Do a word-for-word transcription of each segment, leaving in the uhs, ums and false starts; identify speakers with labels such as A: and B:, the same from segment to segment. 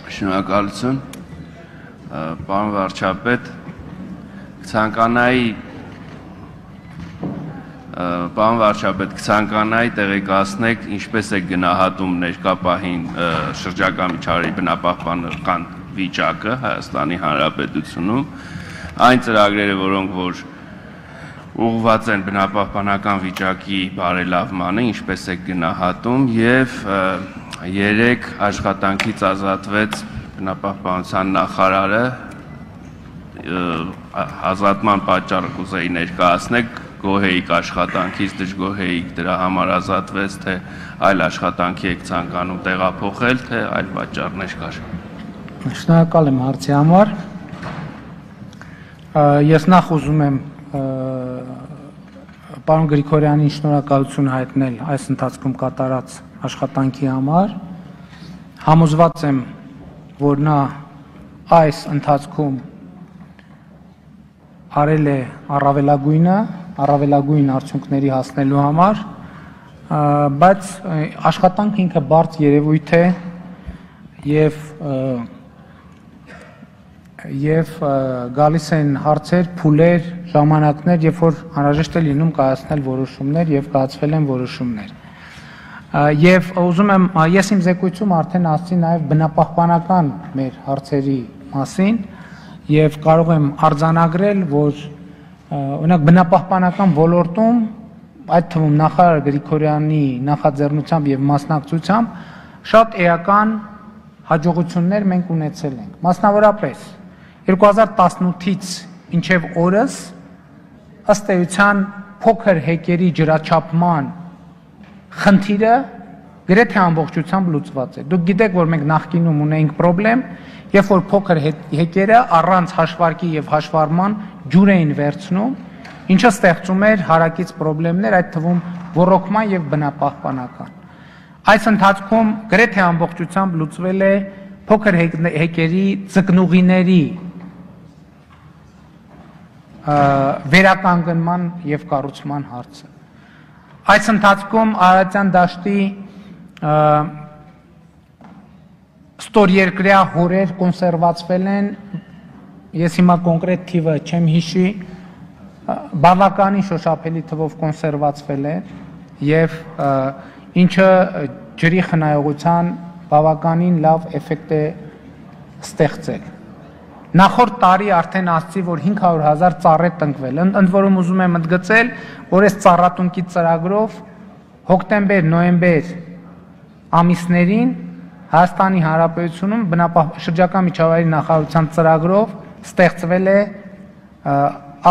A: Շնորհակալություն, պարոն վարչապետ, կցանկանայի Պարոն վարչապետ, կցանկանայի տեղեկացնեք, ինչպես է գնահատում ներկա պահին շրջակա միջավայրի բնապահպանական վիճակը Հայաստանի Հանրապետությունում, այն ծրագրերը, որոնք որ ուղղված են բնապահպանական վիճակի բարելավմանը, ինչպես է գնահատում եւ երեք աշխատանքից ազատվեց բնապահպանության նախարարը, ազատման պատճառը կուզեի ներկայացնեք, գոհեիք աշխատանքից, դժգոհեիք դրա համար ազատվեց, թե այլ աշխատանքի եք ցանկանում տեղափոխել, թե այլ պատճառներ կար։
B: Շնորհակալ եմ հարցի համար։ Ես նախ ուզում եմ պարոն Գրիգորյանին շնորհակալություն հայտնել այս ընթացքում կատարած աշխատանքի համար։ Համոզված եմ, որ նա այս ընթացքում արել է առավելագույնը, առավելագույն արդյունքների հասնելու համար, բայց աշխատանքը ինքը բարդ երևույթ է եւ եւ գալիս են հարցեր, փուլեր, ժամանակներ, երբ որ անհրաժեշտ է լինում կայացնել որոշումներ եւ կայացվել են որոշումներ։ Եվ ուզում եմ, ես իմ զեկույցում արդեն ասացի նաեւ բնապահպանական մեր հարցերի մասին եւ կարող եմ արձանագրել, որ օրինակ բնապահպանական ոլորտում, այդ թվում նախարար Գրիգորյանի նախաձեռնությամբ եւ մասնակցությամբ շատ էական հաջողություններ մենք ունեցել ենք։ Մասնավորապես երկու հազար տասնութից մինչև օրս ըստ էության փոքր հեկերի ջրաչափման խնդիրը գրեթե ամբողջությամբ լուծված է։ Դուք գիտեք, որ մենք նախկինում ունեինք խնդրեմ, երբ որ փոքր հեկերը առանց հաշվարկի եւ հաշվառման ջուր էին վերցնում, ինչը ստեղծում էր հարակից խնդիրներ, այդ թվում ոռոգման եւ բնապահպանական։ Այս ընթացքում գրեթե ամբողջությամբ լուծվել է փոքր հեկերի ձկնուղիների վերականգնման եւ կառուցման հարցը։ Այս ընթացքում Արարատյան դաշտի ստորերկրյա հորեր կոնսերվացվել են, ես հիմա կոնկրետ թիվը չեմ հիշի, բավականին շոշափելի թվով կոնսերվացվել է եւ ինչը ջրի խնայողության բավականին լավ էֆեկտ է ստեղծել։ Նախորդ տարի արդեն ասացի, որ հինգ հարյուր հազար ծառ է տնկվել։ Ընդ որում ուզում եմ ընդգծել, որ այս ծառատունկի ծրագրով հոկտեմբեր, նոյեմբեր ամիսներին Հայաստանի Հանրապետությունում շրջակա միջավայրի նախարարության ծրագրով ստեղծվել է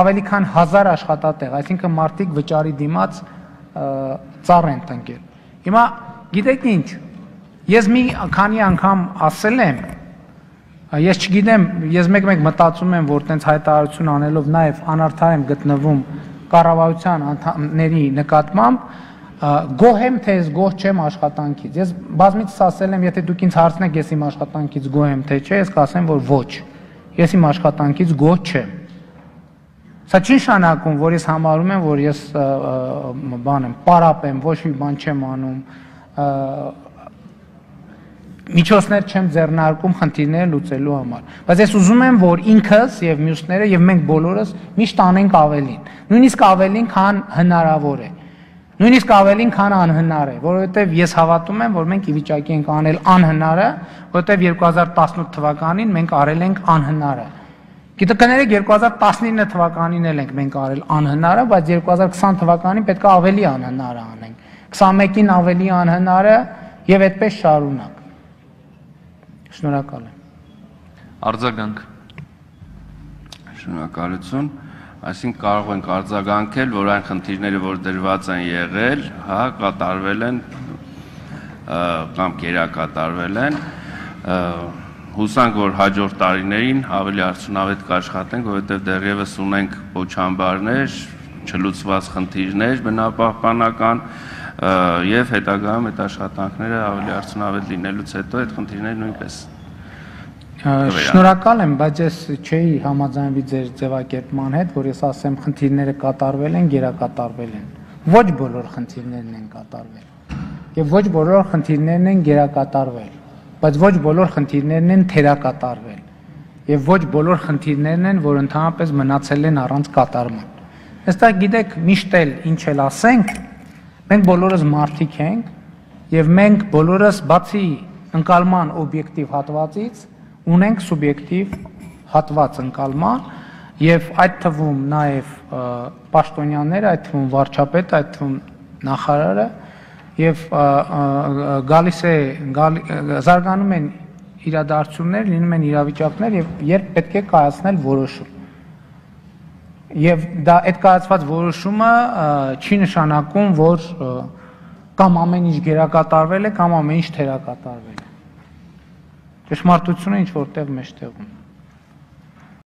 B: ավելի քան հազար աշխատատեղ, այսինքն մարդիկ վճարի դիմաց ծառ են տնկել։ Հիմա գիտեք ինչ, ես մի քանի անգամ ասել եմ, ես չգիտեմ, ես մեկ-մեկ մտածում եմ, որ տենց հայտարարություն անելով նաև անարդար եմ գտնվում կառավարության անդամների նկատմամբ, գոհ եմ, թե ես գոհ չեմ աշխատանքից։ Ես բազմիցս ասել եմ, եթե դուք ինձ հարցնեք, ես իմ աշխատանքից գոհ եմ, թե չէ, ես կասեմ, որ ոչ։ Ես իմ աշխատանքից գոհ չեմ։ Սա չի նշանակում, որ ես համարում եմ, որ ես բան եմ, պարապ եմ, ոչ մի բան չեմ անում, միջոցներ չեմ ձեռնարկում խնդիրները լուծելու համար։ Բայց ես ուզում եմ, որ ինքս եւ մյուսները եւ մենք բոլորս միշտ անենք ավելին, նույնիսկ ավելին, քան հնարավոր է։ Նույնիսկ ավելին, քան անհնար է, որովհետեւ ես հավատում եմ, որ մենք ի վիճակի ենք անել անհնարը, որովհետեւ երկու հազար տասնութ թվականին մենք արել ենք անհնարը։ Գիտեք, երկու հազար տասնինը թվականին էլ ենք մենք արել անհնարը, բայց երկու հազար քսան թվականին պետք է ավելի անհնարը անենք։ քսանմեկին ավելի անհնարը եւ այդպես շարունակ։ Շնորհակալ եմ։
A: Արձագանք։ Շնորհակալություն, այսինքն կարող ենք արձագանքել, որ այն խնդիրները, որ դրված են եղել, հա, կատարվել են կամ կերակատարվել են, հուսանք, որ հաջորդ տարիներին ավելի արդյունավետ կաշխատենք, որովհետև դեռևս ունենք փոչամբարներ, չլուծված խնդիրներ բնապահպանական եւ հետագայում այդ աշխատանքները ավելի արդյունավետ լինելուց հետո այդ խնդիրները նույնպես։
B: Շնորհակալ եմ, բայց ես չէի համաձայնվի ձեր ձևակերպման հետ, որ ես ասեմ խնդիրները կատարվել են, գերակատարվել են։ Ոչ բոլոր խնդիրներն են կատարվել եւ ոչ բոլոր խնդիրներն են գերակատարվել։ բայց ոչ բոլոր խնդիրներն են թերակատարվել եւ ոչ բոլոր խնդիրներն են, որ ընդհանրապես մնացել են առանց կատարման։ Այստեղ գիտեք, միշտ էլ ինչ էլ ասենք, մենք բոլորս մարդիկ ենք եւ մենք բոլորս բացի ընկալման օբյեկտիվ հատվածից ունենք սուբյեկտիվ հատված ընկալման եւ այդ թվում նաեւ պաշտոնյաները, այդ թվում վարչապետը, այդ թվում նախարարը եւ գալիս է զարգանում են իրադարձություններ, լինում են իրավիճակներ եւ երբ պետք է կայացնել որոշում։ Եվ դա այդ կայացված որոշումը չի նշանակում, որ կամ ամեն ինչ գերակատարվել է, կամ ամեն ինչ թերակատարվել է։ Ճշմարտությունը ինչ որտեղ մեջտեղում։